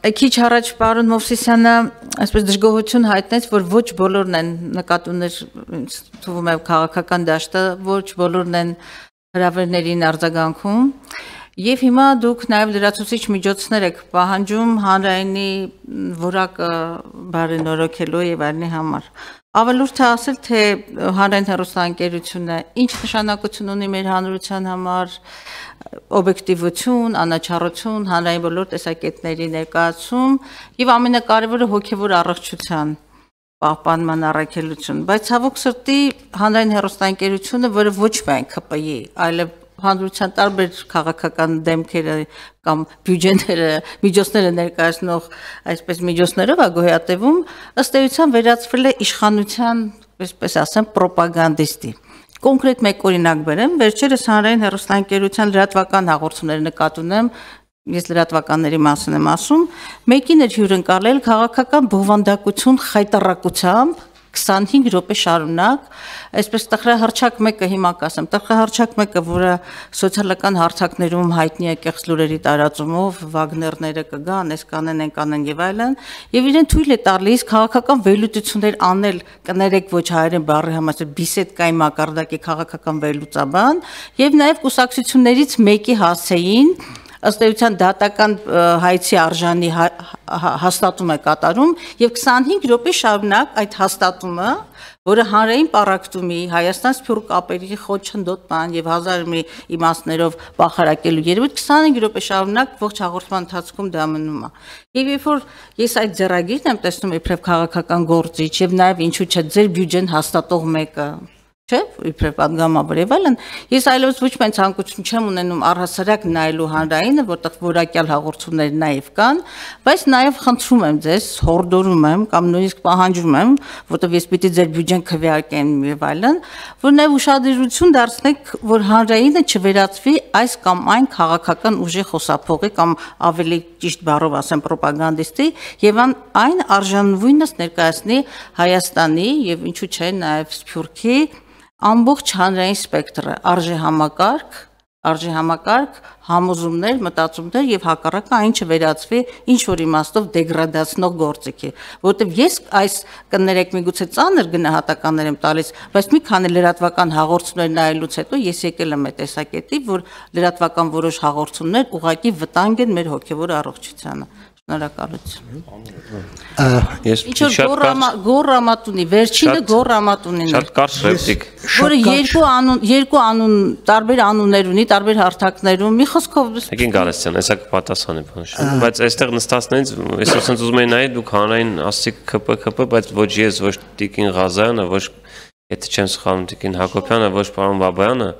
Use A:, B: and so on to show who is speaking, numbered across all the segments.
A: Քիչ առաջ պարոն Մովսիսյանը այսպես դժգոհություն հայտնեց, որ ոչ բոլորն են նկատուներ թվում է քաղաքական դաշտը, ոչ բոլորն են հրավերներին արձագանքում եւ հիմա դուք նաեւ լրացուցիչ միջոցներ եք պահանջում հանրայինի որակը բարենորոգելու եւ այլնի համար։ Ավելորդ է ասել, թե հանրային հեռուստաընկերությունը ինչ նշանակություն ունի մեր հանրության համար, օբյեկտիվություն, անաչառություն, հանրային բոլոր տեսակետների ներկայացում եւ ամենակարևորը հոգեվոր առողջության պահպանման առաքելություն, բայց ցավոք սրտի հանրային հեռուստաընկերությունը, որը ոչ միայն ԿՊ-ի, այլև հանրության տարբեր քաղաքական դեմքերը կամ բյուջեները, միջոցները ներկայացնող այսպես միջոցներով է գոյատևում, ըստ էության վերածվել է իշխանության, այսպես ասեմ, պրոպագանդիստի։ Կոնկրետ մեկ օրինակ բերեմ, վերջերս հանրային հեռուստաընկերության լրատվական հաղորդումների նկատի ունեմ, ես լրատվականների մասին եմ ասում, մեկին էր հյուրընկալել քաղաքական բովանդակություն խայտառակությամբ 25 րոպե շարունակ, այսպես տխրահռչակ մեկը հիմա կասեմ, տխրահռչակ մեկը, որը սոցիալական հարթակներում հայտնի է կեղծ լուրերի տարածումով, վագներները կգան, այս կանեն, այն կանեն եւ այլն, եւ իրեն թույլ է տալիս քաղաքական վերլուծություններ անել, կներեք ոչ հայերեն բառի համար, բիսեդկայի մակարդակի քաղաքական վերլուծաբան, եւ նաեւ կուսակցություններից մեկի հասցեին ըստ էության դատական հայցի արժանի հաստատում է կատարում եւ 25 րոպե շարունակ այդ հաստատումը, որը հանրային պառակտումի, Հայաստան սփյուռք կապերի խոչընդոտման եւ հազար մի իմաստներով բախարակելու երևույթ 25 րոպե շարունակ ողջ հաղորդման ընթացքում դա մնում է։ Եվ երբ որ ես այդ ձեռագիրն եմ տեսնում իբրև քաղաքական գործիչ եւ նաեւ ինչու՞ չէ ձեր բյուջեն հաստատող մեկը Չէ, իբրև պատգամաբար եւ այլն, ես այլևս ոչ միայն ցանկություն չեմ ունենում առհասարակ նայելու հանրայինը, որտեղ որակյալ հաղորդումներ նաեւ կան, բայց նաեւ խնդրում եմ ձեզ, հորդորում եմ կամ նույնիսկ պահանջում եմ, որտեղ ես պիտի ձեր բյուջեն քվեարկեմ եւ այլն, որ նաեւ ուշադրություն դարձնեք, որ հանրայինը չվերածվի այս կամ այն քաղաքական ուժի խոսափողի կամ ավելի ճիշտ բառով ասեմ պրոպագանդիստի եւ այն արժանվույնս ներկայացնի Հայաստանի եւ ինչու՞ չէ նաեւ Սփյուռքի ամբողջ հանրային սպեկտրը, արժե համակարգ, համոզումներ, մտածումներ եւ հակառակը այն չվերածվի ինչ որ իմաստով դեգրադացնող գործիքի, որովհետեւ ես այս կներեք միգուցե ծանր գնահատականներ եմ տալիս, բայց մի քանի լրատվական հաղորդումներ նայելուց հետո ես եկել եմ այդ տեսակետի, որ լրատվական որոշ հաղորդումներ ուղղակի վտանգ են մեր հոգեվոր առողջությանը։ Շնորհակալություն։ Գոռամատունի, վերջինը գոռամատունին։
B: Շատ կարճ ռեպլիկ։
A: Որը երկու անուն, տարբեր անուններ ունի, տարբեր հարթակներում, մի խոսքով։
B: Եկին Գալստյան, հեսա կպատասխանի բանշան։ Բայց այստեղ նստածներից, ես ասենց ուզում եի նայել, դուք հանրային ասցիք ԿՊ, բայց ոչ ես, ոչ Տիկին Ղազարյանը, ոչ եթե չեմ սխալվում Տիկին Հակոբյանը, ոչ պարոն Բաբայանը,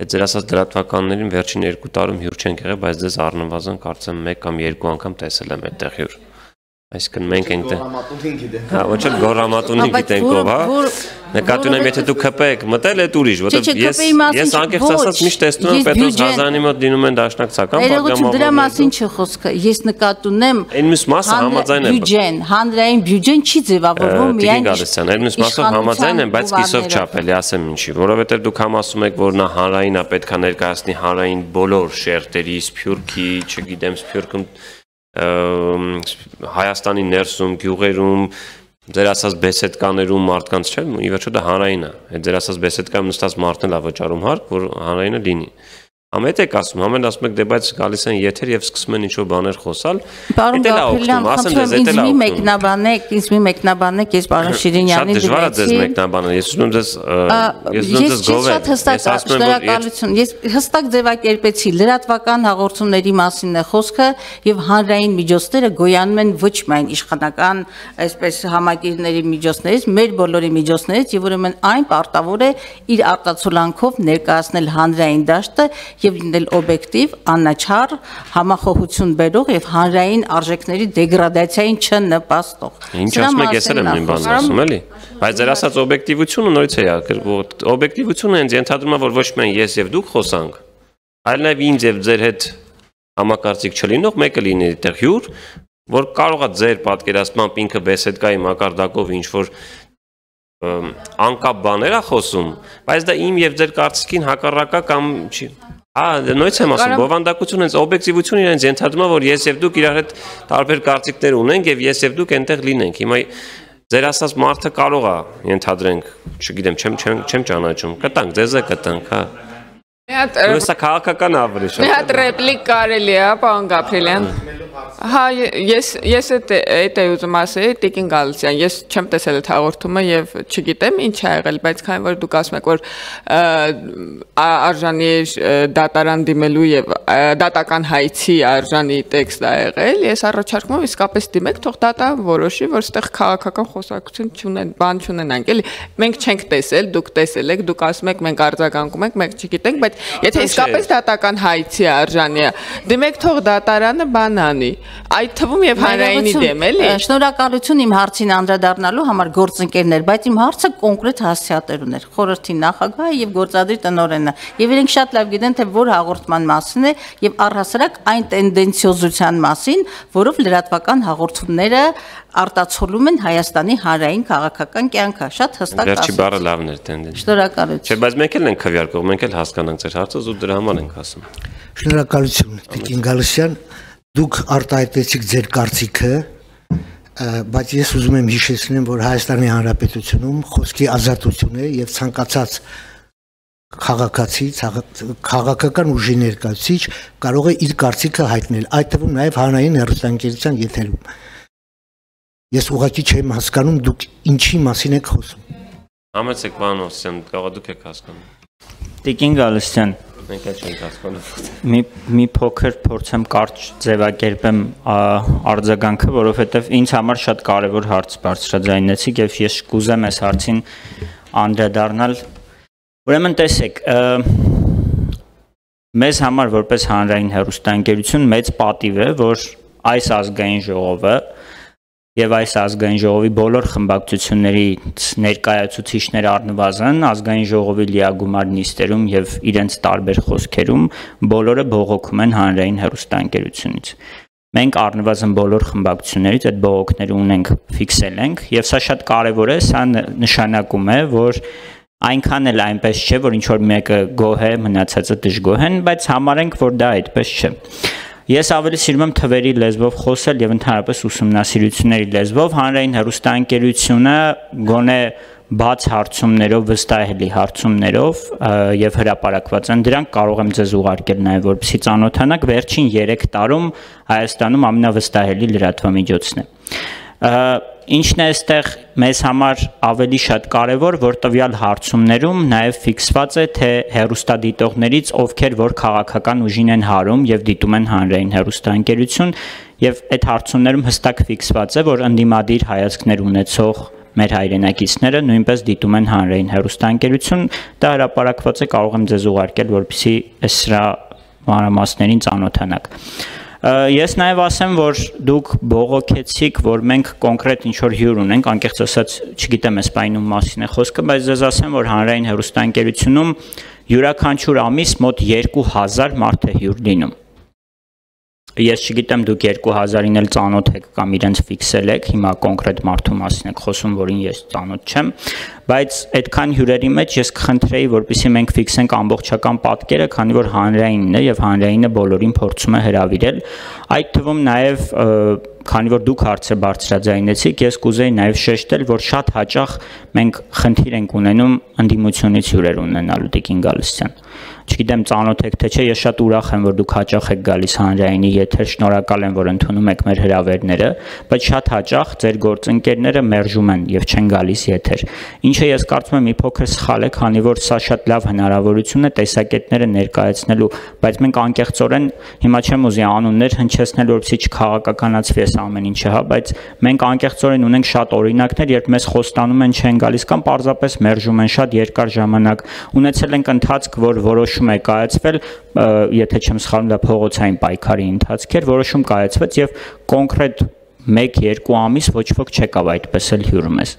B: այդ ձեր ասած լրատվականներին վերջին 2 տարում հյուր չենք եղել, բայց դες առնվազն կարծեմ 1 կամ 2 անգամ տեսել եմ այդտեղ հյուր։ Այսինքն մենք ենք հա, ոչ էլ գոռամատունին գիտենք ով, հա։ Նկատի ունեմ, եթե դու ԿՊ եք մտել, այդ ուրիշ, որտեղ ես անկեղծ ասած միշտ տեսնում եմ Պետրոս Ղազարյանի մոտ դինում են դաշնակցական
A: պատգամավորներ։ Դրա մասին չի խոսքը։ Ես նկատի ունեմ
B: այն մյուս մասը համաձայն եմ։
A: Բյուջեն, հանրային բյուջեն չի ձևավորվում միայն
B: այն մյուս մասով համաձայն եմ, բայց կիսով չափ էլի ասեմ ինչի, որովհետև դուք համ ասում եք, որ նա հանրայինը պետք է ներկայացնի հանրային բոլոր շերտերի, Սփյուռքի, չգիտեմ, Սփյուռքում Հայաստանի ներսում, գյուղերում, ձեր ասած բեսեդկաներում մարդկանց չէ, ի վերջո դա հանրային է։ Այդ ձեր ասած բեսեդկայում նստած մարդն էլ է վճարում հարկ, որ հանրայինը լինի։ Ամեն եք ասում, ամեն ասում եք դե բայց գալիս են եթեր եւ սկսում են ինչ-որ բաներ խոսալ։
A: Պարոն Գաբրելյան, ինձ մի մեկնաբանեք, ես պարոն Շիրինյանին
B: դիմեցի։ Շատ դժվար է ձեզ մեկնաբանել, ես ուզում ձեզ գովեմ։
A: Շնորհակալություն, ես հստակ ձևակերպեցի, լրատվական հաղորդումների մասին է խոսքը եւ հանրային միջոցները գոյանում են ոչ միայն իշխանական, այսպես համակիրների միջոցներից, մեր բոլորի միջոցներից եւ ուրեմն այն պարտավոր է իր արտացոլանքով ներկայացնել հանրային դաշտը եւ լինել օբյեկտիվ, անաչառ, համախոհություն բերող եւ հանրային արժեքների դեգրադացիային չնպաստող։
B: Ինչ ասում եք, ես էլ եմ նույն բանն ասում, էլի։ Բայց ձեր ասած օբյեկտիվությունը նորից է ակրվող։ Օբյեկտիվությունը հենց ենթադրում է, որ ոչ միայն ես եւ դուք խոսանք, այլ նաեւ ինձ եւ ձեր հետ համակարծիք չլինող մեկը լինի այդտեղ հյուր, որ կարող է ձեր պատկերացմամբ ինքը բեսեդկայի մակարդակով ինչ որ անկապ բաներ է խոսում, բայց դա իմ եւ ձեր կարծիքին հակառակա կամ չի։ նույնց եմ ասում, բովանդակությունը հենց օբյեկտիվությունը իրենց ենթադրում է, որ ես եւ դուք իրար հետ տարբեր կարծիքներ ունենք եւ ես եւ դուք այնտեղ լինենք։ Հիմա ձեր ասած մարդը կարող է ենթադրենք, չգիտեմ, չեմ ճանաչում, կտանք, ձեզ է կտանք, հա։ Սա քաղաքական ավելի շատ։
C: Մի հատ ռեպլիկ կարելի է, պարոն Գաբրիելյան։ Հա, ես այդ է ուզում ասեի, Տիկին Գալստյան, ես չեմ տեսել այդ հաղորդումը եւ չգիտեմ ինչ ա եղել, բայց քանի որ դուք ասում եք, որ արժանի դատարան դիմելու եւ դատական հայցի արժանի տեքստ ա եղել, ես առաջարկում եմ իսկապես դիմեք, թող դատան որոշի, որ այդտեղ քաղաքական խոսակցություն չունեն, բան չունենանք, էլի։ Մենք չենք տեսել, դուք տեսել եք, դուք ասում եք մենք արձագանքում ենք, մենք չգիտենք, բայց եթե իսկապես դատական հայցի արժանի է, դիմեք թող դատարանը բան անի։ Այդ թվում եւ հանրայինի դեմ էլի։
A: Շնորհակալություն իմ հարցին անդրադառնալու համար գործընկերներ, բայց իմ հարցը կոնկրետ հասցեատերուն էր։ Խորհրդի նախագահը եւ գործադիր տնօրենը։ Եվ իրենք շատ լավ գիտեն, թե որ հաղորդման մասին է եւ առհասարակ այն տենդենցիոզության մասին, որով լրատվական հաղորդումները արտացոլում են Հայաստանի հանրային քաղաքական կյանքը։ Շատ հստակ ասում։
B: Վերջի բառը լավն էր տենդենցիա։
A: Շնորհակալություն։
B: Չէ, բայց մենք էլ ենք քվեարկող, մենք էլ հասկանանք ձեր հարցը ու դրա համար ենք ասում։
D: Շնորհակալություն, Տիկին Գալստյան, դուք արտահայտեցիք ձեր կարծիքը, բայց ես ուզում եմ հիշեցնեմ, որ Հայաստանի Հանրապետությունում խոսքի ազատություն է եւ ցանկացած քաղաքացի, քաղաքական ուժի ներկայացուցիչ կարող է իր կարծիքը հայտնել, այդ թվում նաեւ հանրային հեռուստաընկերության եթերում։ Ես ուղղակի չեմ հասկանում դուք ինչի մասին եք խոսում։
B: Համեցեք պարոն Օսյան, կարող դուք եք հասկանում։
E: Տիկին Գալստյան,
B: մենք էլ չենք հասկանում։
E: Մի փոքր փորձեմ կարճ ձևակերպեմ արձագանքը, որովհետև ինձ համար շատ կարևոր հարց բարձրաձայնեցիք եւ ես կուզեմ այս հարցին անդրադառնալ։ Ուրեմն տեսեք, մեզ համար որպես հանրային հեռուստաընկերություն մեծ պատիվ է, որ այս ազգային ժողովը եւ այս ազգային ժողովի բոլոր խմբակցություններից ներկայացուցիչներ առնվազն ազգային ժողովի լիագումար նիստերում եւ իրենց տարբեր խոսքերում բոլորը բողոքում են հանրային հեռուստաընկերությունից։ Մենք առնվազն բոլոր խմբակցություններից այդ բողոքները ունենք, ֆիքսել ենք եւ սա շատ կարեւոր է, սա նշանակում է, որ այնքան էլ այնպես չէ, որ ինչ որ մեկը գոհ է, մնացածը դժգոհ են, բայց համարենք, որ դա այդպես չէ։ Ես ավելի սիրում եմ թվերի լեզվով խոսել եւ ընդհանրապես ուսումնասիրությունների լեզվով հանրային հեռուստաընկերությունը գոնե բաց հարցումներով, վստահելի հարցումներով եւ հրապարակված են դրանք կարող եմ ձեզ ուղարկել նաեւ որպեսզի ծանոթանաք վերջին 3 տարում Հայաստանում ամենավստահելի լրատվամիջոցն է։ Ինչն է այստեղ մեզ համար ավելի շատ կարևոր, որ տվյալ հարցումներում նաև ֆիքսված է, թե հեռուստադիտողներից ովքեր որ քաղաքական ուժին են հարում եւ դիտում են հանրային հեռուստաընկերություն եւ այդ հարցումներում հստակ ֆիքսված է, որ ընդդիմադիր հայացքներ ունեցող մեր հայրենակիցները նույնպես դիտում են հանրային հեռուստաընկերություն, դա հրապարակված է, կարող եմ ձեզ ուղարկել, որպեսզի սրա մանրամասներին ծանոթանաք։ Ես նաև ասեմ, որ դուք բողոքեցիք, որ մենք կոնկրետ ինչ-որ հյուր ունենք, անկեղծ ասած, չգիտեմ այս պայնում մասին է խոսքը, բայց ձեզ ասեմ, որ հանրային հեռուստաընկերությունում յուրաքանչյուր ամիս մոտ 2000 մարդ է հյուր լինում։ Ես չգիտեմ դուք 2000-ին էլ ծանոթ եք կամ իրենց ֆիքսել եք, հիմա կոնկրետ մարդու մասին եք խոսում, որին ես ծանոթ չեմ, բայց այդքան հյուրերի մեջ ես կխնդրեի, որպեսզի մենք ֆիքսենք ամբողջական պատկերը, քանի որ հանրայինն է եւ հանրայինը բոլորին փորձում է հրավիրել, այդ թվում նաեւ քանի որ դուք հարցը բարձրաձայնեցիք, ես կուզեի նաեւ շեշտել, որ շատ հաճախ մենք խնդիր ենք ունենում ընդդիմությունից հյուրեր ունենալու Տիկին Գալստյան։ Չգիտեմ ծանոթ եք թե չէ, ես շատ ուրախ եմ, որ դուք հաճախ եք գալիս հանրայինի եթեր, շնորհակալ եմ, որ ընդունում եք մեր հրավերները, բայց շատ հաճախ ձեր գործընկերները մերժում են եւ չեն գալիս եթեր։ Ինչը ես կարծում եմ մի փոքր սխալ է, քանի որ սա շատ լավ հնարավորություն է տեսակետները ներկայացնելու, բայց մենք անկեղծորեն հիմա չեմ ուզի անուններ հնչեցնել, որպեսզի չքաղաքականացվի այս ամեն ինչը, հա, բայց մենք անկեղծորեն ունենք շատ օրինակներ, երբ մեզ խոստանում են չեն գալիս կամ պարզապես մերժում են շատ երկար ժամանակ։ Ունեցել ենք ընթացք, որ որոշում է կայացվել, եթե չեմ սխալվում, դա փողոցային պայքարի ընթացք էր, որոշում կայացվեց եւ կոնկրետ 1-2 ամիս ոչ ոք չեկավ այդպես էլ հյուր մեզ։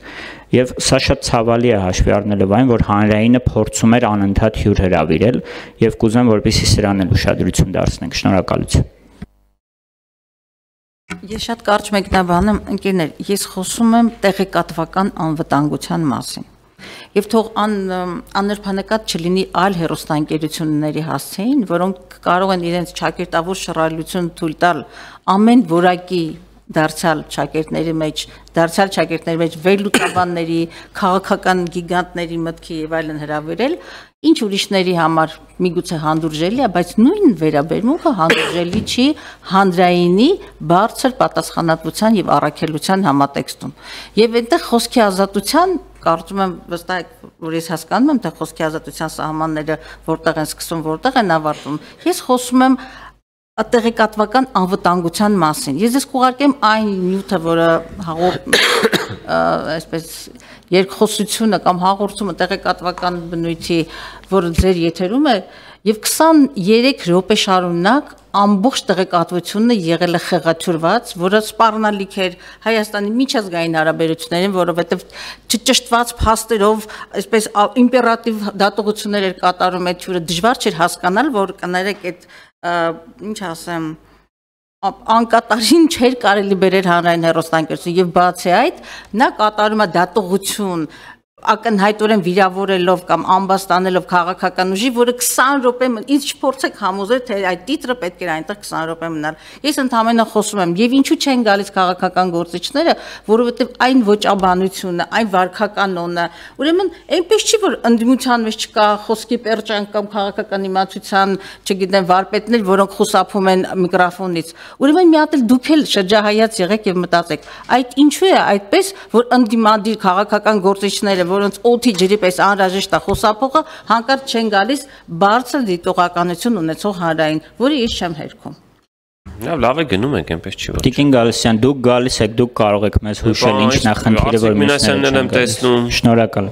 E: Եվ սա շատ ցավալի է հաշվի առնելով այն, որ հանրայինը փորձում էր անընդհատ հյուր հրավիրել եւ կուզեմ որպեսզի սրան էլ ուշադրություն դարձնենք։ Շնորհակալություն։
A: Ես շատ կարճ մեկնաբանեմ, ընկերներ, ես խոսում եմ տեղեկատվական անվտանգության մասին։ Եվ թող աննրբանկատ չլինի այլ հեռուստաընկերությունների հասցեին, որոնք կարող են իրենց ճակերտավոր շռայլություն թույլ տալ ամեն որակի դարձյալ ճակերտների մեջ վերլուծաբանների, քաղաքական գիգանտների մտքի եւ այլն հրավիրել, ինչ ուրիշների համար միգուցե հանդուրժելի է, բայց նույն վերաբերմունքը հանդուրժելի չի հանրայինի բարձր պատասխանատվության եւ առաքելության համատեքստում։ Եվ այնտեղ խոսքի ազատության կարծում եմ վստահ որ ես հասկանում եմ թե խոսքի ազատության սահմանները որտեղ են սկսվում, որտեղ են ավարտվում։ Ես խոսում եմ տեղեկատվական անվտանգության մասին։ Ես կուղարկեմ այն նյութը, որը այսպես երկխոսությունը կամ հաղորդումը տեղեկատվական բնույթի, որը ձեր եթերում է, եւ 23 րոպե շարունակ ամբողջ տեղեկատվությունը եղել է խեղաթյուրված, որը սպառնալիք էր Հայաստանի միջազգային հարաբերություններին, որովհետեւ չճշտված փաստերով, այսպես իմպերատիվ դատողություններ էր կատարում այդ թյուրը, դժվար չէր հասկանալ, որ կներեք այդ ինչ ասեմ անկատարին չէր կարելի բերել հանրային հեռուստաընկերություն եւ բացի այդ նա կատարում է դատողություն ակնհայտորեն վիրավորելով կամ ամբաստանելով քաղաքական ուժի, որը 20 րոպե ինձ չփորձեք համոզել, թե այդ տիտրը պետք է այնտեղ 20 րոպե մնալ։ Ես ընդհանրապես խոսում եմ, եւ ինչու չեն գալիս քաղաքական գործիչները, որովհետեւ այն ոճաբանությունը, այն վարքականոնը, ուրեմն այնպես չի, որ ընդդիմության մեջ չկա խոսքի պերճան կամ քաղաքական իմացության, չգիտեմ, վարպետներ, որոնք խուսափում են միկրոֆոնից։ Ուրեմն մի հատ էլ դուք էլ շրջահայաց եղեք եւ մտածեք, այդ ինչու է այդպես, որ ընդդիմադիր քաղաքական գործիչները որոնց օդի ջրի պես անհրաժեշտ է խոսափողը հանկարծ չեն գալիս բարձր դիտողականություն ունեցող հանրային, որը ես չեմ հերքում։
B: Լավ է գնում ենք, այնպես չի որ։
E: Տիկին Գալստյան, դուք գալիս եք, դուք կարող եք մեզ հուշել ինչն է խնդիրը, որ
B: մյուսներն եմ տեսնում։
E: Շնորհակալ։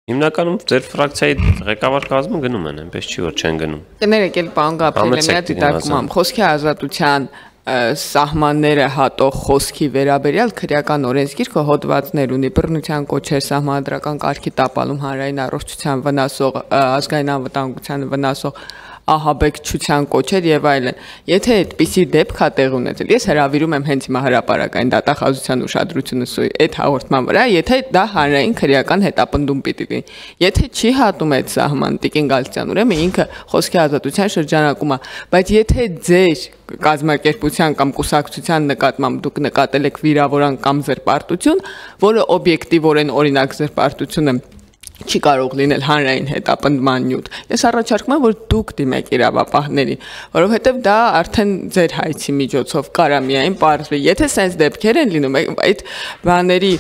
B: Հիմնականում ձեր ֆրակցիայի ղեկավար կազմը գնում են, այնպես չի որ չեն գնում։
C: Կներեք, էլ պարոն Գաբրիելը մի հատ դիտարկում եմ, խոսքի ազատության սահմանները հատող խոսքի վերաբերյալ քրեական օրենսգիրքը հոդվածներ ունի բռնության կոչեր, սահմանադրական կարգի տապալում, հանրային առողջության վնասող, ազգային անվտանգությանը վնասող ահաբեկչության կոչեր եւ այլն։ Եթե այդպիսի դեպք է տեղ ունեցել, ես հրավիրում եմ հենց հիմա հրապարակային դատախազության ուշադրությունը այդ հաղորդման վրա, եթե դա հանրային քրեական հետապնդում պիտի լինի։ Եթե չի հատում այդ սահման Տիկին Գալստյան, ուրեմն ինքը խոսքի ազատության շրջանակում է, բայց եթե ձեր կազմակերպության կամ կուսակցության նկատմամբ դուք նկատել եք վիրավորան կամ զրպարտություն, որը օբյեկտիվորեն օրինակ զրպարտությունը չի կարող լինել հանրային հետապնդման նյութ։ Ես առաջարկում եմ, որ դուք դիմեք իրավապահներին, որովհետև դա արդեն ձեր հայցի միջոցով կարա միայն պարզվի։ Եթե sense դեպքեր են լինում, այդ բաների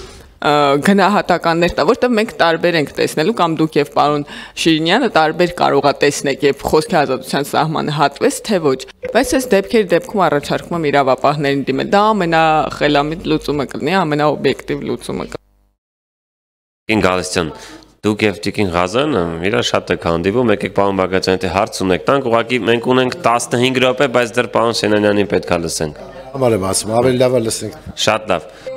C: գնահատականներ տա, որտեղ մենք տարբեր ենք տեսնելու կամ դուք եւ պարոն Շիրինյանը տարբեր կարողա տեսնեք եւ խոսքի ազատության սահմանը հատվեց թե ոչ, բայց այս դեպքերի դեպքում առաջարկում եմ իրավապահներին դիմել, դա ամենախելամիտ լուծումը կլինի, ամենաօբյեկտիվ լուծումը կլինի։
B: Տիկին Գալստյան, դուք եւ Տիկին Ղազարյանը իրար շատ եք հանդիպում, եկեք պարոն Բաղդասարյան, թե հարց ունեք, տանք ուղղակի մենք ունենք 15 րոպե, բայց դեռ պարոն Սենանյանին պետք է լսենք։
F: Համարեմ ասում, ավելի լավ է լսենք։
B: Շատ լավ։